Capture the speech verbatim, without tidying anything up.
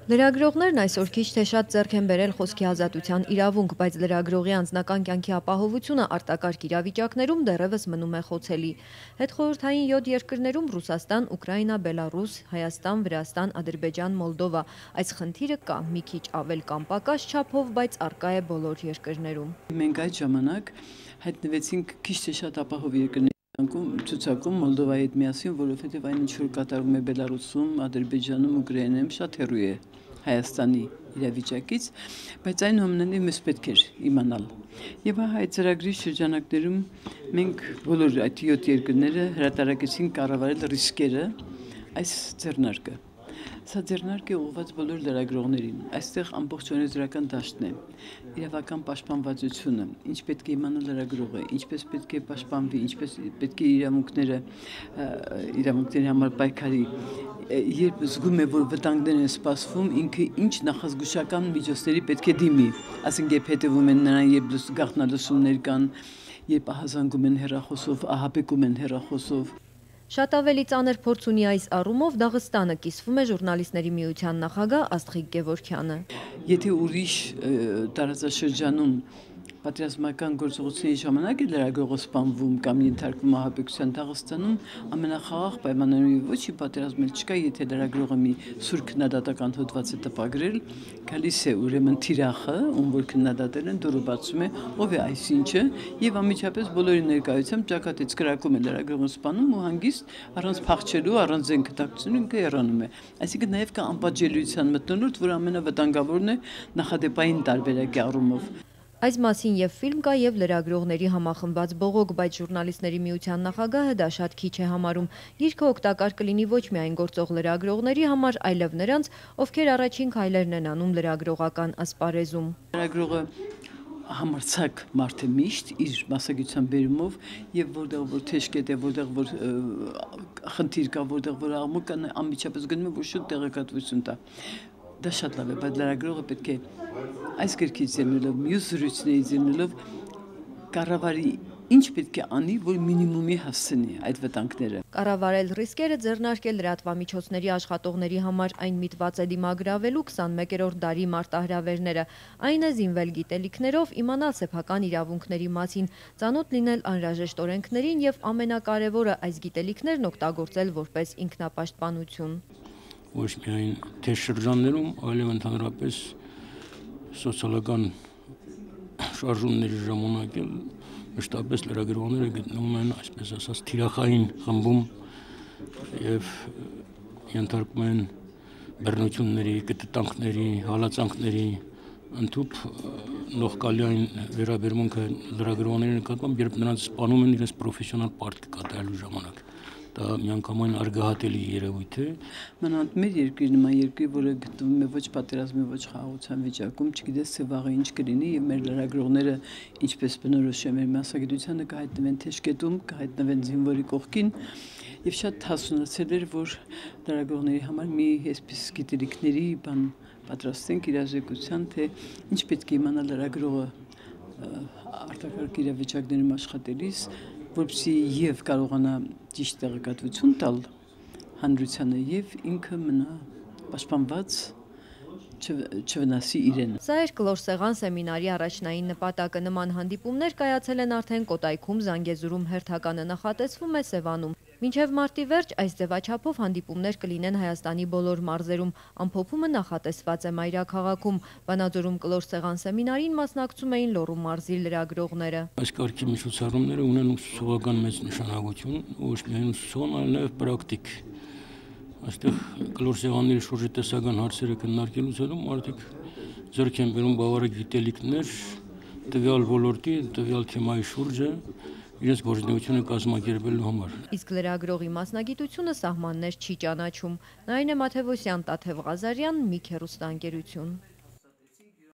Լրագրողներն այսօր քիչ թե շատ ձեռք են բերել խոսքի ազատության իրավունք, բայց լրագրողի անձնական կյանքի ապահովությունը արտակարգ իրավիճակներում դեռևս մնում է խոցելի։ Հետխորհրդային յոթ երկրներում Ռուսաստան, Ուկրաինա, Բելարուս, Հայաստան, Վրաստան, Ադրբեջան, Մոլդովա, այս խնդիրը կա մի քիչ ավել կամ պակաս չափով, բայց առկա է բոլոր երկրներում։ Մենք այդ ժամանակ հայտնվեցինք քիչ թե շատ ապահով երկրների ցուցակում Մոլդովայի հետ միասին, որովհետև այն ինչ որ կատարվում է Բելարուսում, Ադրբեջանում, Ուկրաինայում շատ հեռու է Հայաստանի իրավիճակից, բայց այնուամենայնիվ մեզ պետք էր իմանալ։ Եվ այդ ծրագրի շրջանակներում մենք բոլոր այդ յոթ երկրները հրատարակեցինք կառավարել ռիսկերը այս ձեռնարկը։ Սա ձեռնարկ է ուղղված բոլոր լրագրողներին։ Այստեղ ամբողջովին դրական դաշտն է։ Իրավական պաշտպանվածությունը, ինչ պետք է իմանա լրագրողը, ինչպես պետք է պաշտպանվի, ինչպես պետք է իրավունքները իրավունքների համար պայքարի, երբ զգում է, որ վտանգներ են սպասվում, ինքը ինչ նախազգուշական միջոցների պետք է դիմի, ասենք երբ հետևում են նրան, երբ գաղտնալսումներ կան, երբ ահազանգում են հեռախոսով, ահաբեկում են հեռախոսով։ Շատ ավելի ծանր փորձ ունի այս առումով Դաղստանը, կիսվում է ժուրնալիստների միության նախագահ Աստղիկ Գևորգյանը։ Եթե ուրիշ տարածաշրջանում պատերազմական գործողությունների ժամանակ է լրագրողը սպանվում կամ ենթարկվում ահաբեկության, Դաղստանում ամենախաղաղ պայմաններում ոչի պատերազմել չկա, եթե լրագրողը մի սուր քննադատական հոդված է տպագրել, գալիս է ուրեմն թիրախը, ում որ քննադատել են, դուրը բացում է, ով է այսինչը, եւ անմիջապես բոլորի ներկայությամբ ճակատից կրակում է լրագրողը սպանում ու հանգիստ առանց փախչելու, առանց զենք կտակցնելու ինքը հեռանում է։ Այսինքն նաեւ կա անպատժելիության մթնոլորտ, որ ամենավտանգավորն է նախադեպային տարբերակի առումով։ Այս մասին եւ ֆիլմ կա եւ լրագրողների համախմբված բողոք, բայց ժուրնալիստների միության նախագահը դա շատ քիչ է համարում։ Գիրքը օգտակար կլինի ոչ միայն գործող լրագրողների համար, այլև նրանց, ովքեր առաջին քայլերն են անում լրագրողական ասպարեզում։ Լրագրողը համարձակ մարդ է միշտ իր մասնագիտության բերումով եւ որտեղ որ թեժկետ է, որտեղ որ խնդիր կա, որտեղ որ աղմուկ կա, անմիջապես գնում է որ շուտ տեղեկատվություն տա։ Դա շատ լավ է, բայց լրագրողը պետք է այս գրքից ելնելով, մյուս զրույցներից ելնելով կառավարի ինչ պետք է անի, որ մինիմումի հասցնի այդ վտանգները։ Կառավարել ռիսկերը, ձեռնարկել լրատվամիջոցների աշխատողների համար այն միտված է դիմագրավելու քսանմեկերորդ դարի մարտահրավերները, այն է զինվել գիտելիքներով, իմանալ սեփական իրավունքների մասին, ծանոթ լինել անհրաժեշտ օրենքներին եւ ամենակարևորը այս գիտելիքներն օգտագործել որպես ինքնապաշտպանություն։ Ոչ միայն թեժ շրջաններում, այլև ընդհանրապես սոցիալական շարժումների ժամանակ էլ մշտապես լրագրողները գտնվում են, այսպես ասած, թիրախային խմբում եւ ենթարկվում են բռնությունների, կտտանքների, հալածանքների, ընդհուպ նողկալի վերաբերմունքը լրագրողների նկատմամբ, երբ նրանց սպանում են իրենց պրոֆեսիոնալ պարտքը կատարելու ժամանակ։ Դա միանգամայն արգահատելի երևույթ է։ Մանավանդ մեր երկրի նման երկրի, որը գտնվում է ոչ պատերազմի, ոչ խաղաղության վիճակում, չգիտես թե վաղը ինչ կլինի, եւ մեր լրագրողները ինչպես բնորոշ է մեր մասնագիտությանը կհայտնվեն թեժկետում, կհայտնվեն զինվորի կողքին, եւ շատ հասունացել էր, որ լրագրողների համար մի այսպես գիտելիքների բան պատրաստենք իրազեկության, թե ինչ պետք է իմանալ լրագրողը արտակարգ իրավիճակներում աշխատելիս, որպեսզի եւ կարողանա ճիշտ տեղեկատվություն տալ հանրությանը եւ ինքը մնա պաշտպանված, չվնասի իրեն։ Սա էր Կլոր սեմինարի առաջնային նպատակը։ Նման հանդիպումներ կայացել են արդեն Կոտայքում, Զանգեզուրում, հերթականը նախատեսվում է Սևանում։ Մինչև մարտի վերջ այս ձևաչափով հանդիպումներ կլինեն Հայաստանի բոլոր մարզերում։ Ամփոփումը նախատեսված է մայրաքաղաքում։ Վանաձորում Կլոր սեմինարին մասնակցում էին Լոռու մարզի լրագրողները։ Այս կարգի միջոցառումները ունեն ուսուցողական մեծ նշանակություն, ոչ միայն ուսուցողական, այլ նաև պրակտիկ։ Այստեղ Կլոր սեղանների շուրջ տեսական հարցերը քննարկելուց հետո մարդիկ ձեռք են բերում բավարար գիտելիքներ տվյալ ոլորտի, տվյալ թեմայի շուրջը իրենց գործունեությունը կազմակերպելու համար։ Իսկ լրագրողի մասնագիտությունը սահմաններ չի ճանաչում։ Նարինե Մաթևոսյան, Տաթև Ղազարյան, Միք հեռուստաընկերություն։